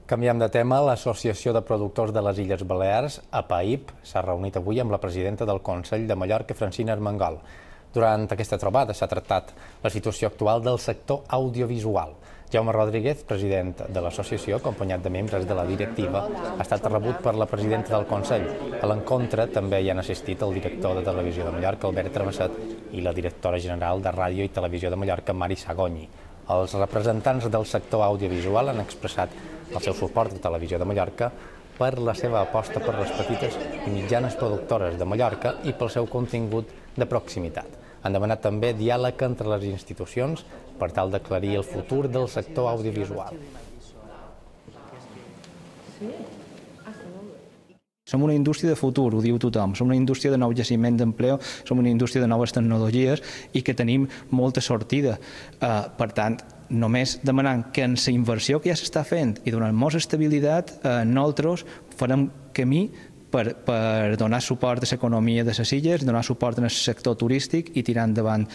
Canviem de tema. L'Associació de Productors de les Illes Balears, APAIP, s'ha reunit avui amb la presidenta del Consell de Mallorca, Francina Armengol. Durant aquesta trobada s'ha tractat la situació actual del sector audiovisual. Jaume Rodríguez, president de l'associació, acompanyat de membres de la directiva, ha estat rebut per la presidenta del Consell. A l'encontre també hi han assistit el director de Televisió de Mallorca, Albert Travesset, i la directora general de Ràdio i Televisió de Mallorca, Mari Sagonyi. Els representants del sector audiovisual han expressat el seu suport a Televisió de Mallorca per la seva aposta per les petites i mitjanes productores de Mallorca i pel seu contingut de proximitat. Han demanat també diàleg entre les institucions per tal d'aclarir el futur del sector audiovisual. Som una indústria de futur, ho diu tothom. Som una indústria de nou jaciment d'empleo, som una indústria de noves tecnologies i que tenim molta sortida. Per tant, només demanant que en la inversió que ja s'està fent i donant-nos estabilitat, nosaltres farem camí per donar suport a l'economia de les illes, donar suport al sector turístic i tirar endavant